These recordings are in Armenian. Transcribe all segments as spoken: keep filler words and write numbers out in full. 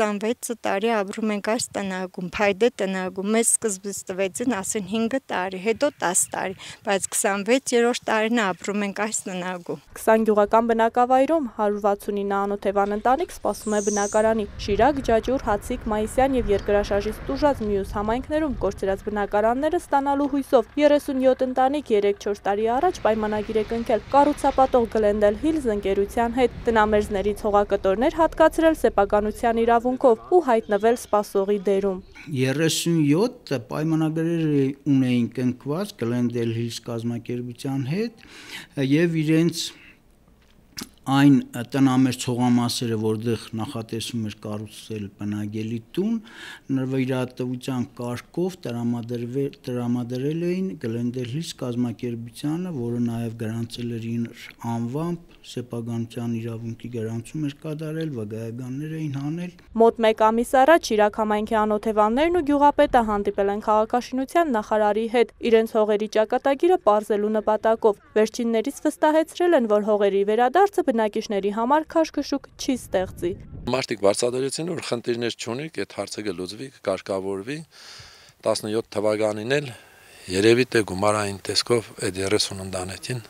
քսանվեց տարի ապրում ենք այս տնակում, փայդե տնակում, մեզ սկզբից տվեցին ասեն հինգ տարի, հետո տասը տարի, բայց քսանվեցերորդ տարին ապրում ենք այս տնակում։ քսան գյուղական բնակավայրում հարյուր վաթսունինը անօթևան ընտանիք սպասում է բնակարանի։ Շիրակ, Ջաջուր, Հացիկ, Մայիսյան եւ Երկրաշարժից տուժած մյուս համայնքներում կորցրած բնակարանները ստանալու հույսով երեսունյոթ ընտանիք երեք-չորս տարի առաջ պայմանագիր է կնքել կառուցապատող Glendale Hills ընկերության հետ, տնամերձների ցողակտորներ հատկացրել սեփականության իրավունքով ու հայտնվել սպասողի դերում։ երեսունյոթ պայմանագրեր ունեին կնքված Glendale Hills կազմակերպության հետ եւ իրենց այն տնամերձ ցողամասերը, որտեղ նախատեսում էր կառուցել բնակելի տուն, նվիրատվության կարգով տրամադրել էին Glendale Hills կազմակերպությանը, որը նաև գրանցել էր իր անվամբ, սեփականության իրավունքի գրանցում էր կատարել, վկայականներ էին հանել։ Մոտ մեկ ամիս առաջ Շիրակ համայնքի անօթևաններն ու գյուղապետը հանդիպել են քաղաքաշինության նախարարի հետ, իրենց հողերի ճակատագիրը պարզելու նպատակով։ Վերջիններից վստահեցրել են, որ հողերի վերադարձը բնակիչների համար քաշքշուկ չի ստեղծի։ Մարդիկ բարձրացրեցին, որ խնդիրներ չունի, այդ հարցը կլուծվի, կարգավորվի։ տասնյոթ թվականին էլ երևի թե գումարային տեսքով այդ երեսուն ընտանիքին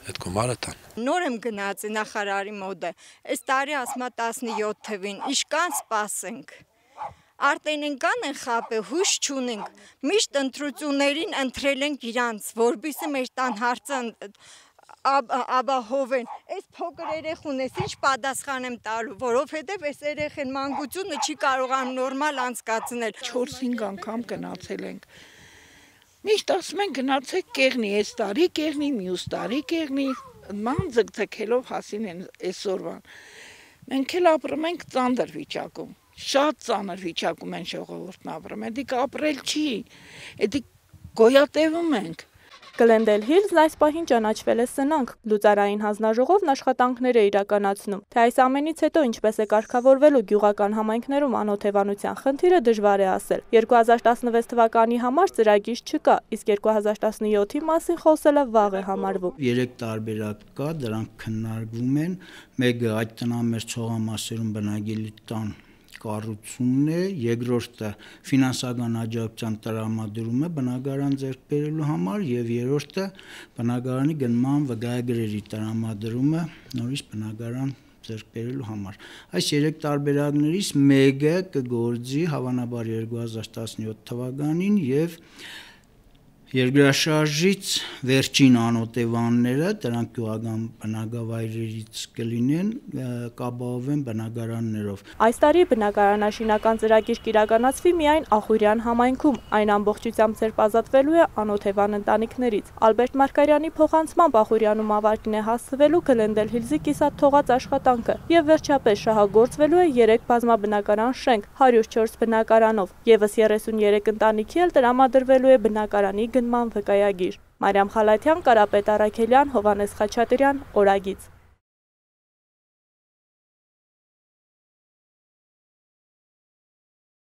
այդ գումարը տան։ Նոր եմ գնացի նախարարի մոտ, այս տարի ասма տասնյոթ թվին, իշքան սպասենք։ Արտենենկան են խապե, հույս չունենք, միշտ ընտրություններին ընտրել ենք իրանց, որպեսզի մեր տան հարցը ապահովեն։ Այս փոքր երեխուն ես ինչ պատասխան եմ տալու, որովհետև այս երեխեն մանկությունը չի կարողանում նորմալ անցկացնել։ չորս-հինգ անգամ գնացել ենք։ Միշտ ասում են գնացեք կեղնի, այս տարի կեղնի, մյուս տարի կեղնի, ման ձգձգելով հասին են այսօրվան։ Մենք էլ ապրում ենք ծանր վիճակում, շատ ծանր վիճակում են ժողովուրդն ապրում, էդիկ ապրել չի, էդիկ գոյատևում ենք։ Glendale Hills-ն այս պահին ճանաչվել է սնանկ, լուծարային հանձնաժողովն աշխատանքներ է իրականացնում, թե այս ամենից հետո ինչպես է կարգավորվելու գյուղական համայնքներում անօթևանության խնդիրը դժվար է ասել։ երկու հազար տասնվեց թվականի համար ծրագիր չկա, իսկ երկու հազար տասնյոթի մասին խոսելը վաղ է համարվում։ Երեք տարբերակ կա, դրանք քննարկվում են, մեկը այդ տնամերձ ցողամասերում բնակելի տան կառուցումն է, երկրորդը ֆինանսական աջակցության տրամադրումը բնակարան ձեռք բերելու համար եւ երրորդը բնակարանի գնման վկայագրերի տրամադրումը նորից բնակարան ձեռք բերելու համար։ Այս երեք տարբերակներից մեկը կգործի հավանաբար երկու հազար տասնյոթ թվականին եւ Երկրաշարժից վերջին անօթևանները, դրանք գյուղական բնակավայրերից կլինեն, կապահովեն բնակարաններով։ Այս տարի բնակարանաշինական ծրագիր կիրականացվի միայն Ախուրյան համայնքում, այն ամբողջությամբ ձերբազատվելու է անօթևան ընտանիքներից։ Ալբերտ Մարգարյանի փոխանցմամբ Ախուրյանում ավարտին է հասցվելու Glendale Hills-ի կիսատ թողած աշխատանքը եւ վերջապես շահագործվելու է երեք բազմաբնակարան շենք հարյուր չորս բնակարանով, եւս երեսունյերեք ընտանիքի էլ տրամադրվելու է բնակարանի գնման վկայագիր։ Մարիամ Խալաթյան, Կարապետ Առաքելյան, Հովհաննես Խաչատրյան, Օրագիծ։